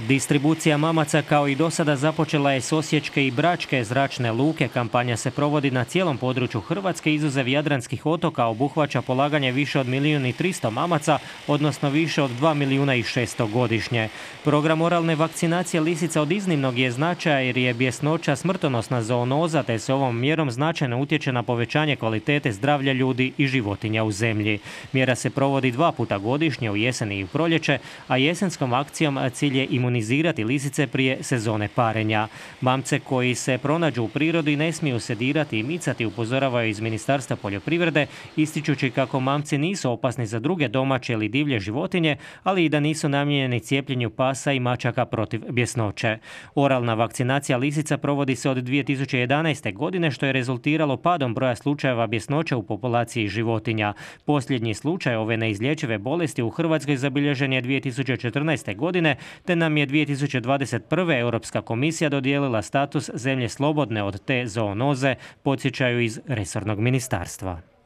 Distribucija mamaca kao i do sada započela je s osječke i bračke zračne luke. Kampanja se provodi na cijelom području Hrvatske, izuzev jadranskih otoka, obuhvaća polaganje više od 1.300.000 mamaca, odnosno više od 2.600.000 godišnje. Program oralne vakcinacije lisica od iznimnog je značaja jer je bjesnoća smrtonosna zoonoza, te se ovom mjerom značajno utječe na povećanje kvalitete zdravlja ljudi i životinja u zemlji. Mjera se provodi 2 puta godišnje, u jesen i u proljeće, a jesenskom akcijom cilj je imunizirati lisice prije sezone parenja. Mamce koji se pronađu u prirodi ne smiju se dirati i micati, upozoravaju iz Ministarstva poljoprivrede, ističući kako mamci nisu opasni za druge domaće ili divlje životinje, ali i da nisu namijenjeni cijepljenju pasa i mačaka protiv bjesnoće. Oralna vakcinacija lisica provodi se od 2011. godine, što je rezultiralo padom broja slučajeva bjesnoće u populaciji životinja. Posljednji slučaj ove neizlječive bolesti u Hrvatskoj zabilježen je 2014. godine, te nam je 2021. Europska komisija dodijelila status zemlje slobodne od te zoonoze, podsjećaju iz resornog ministarstva.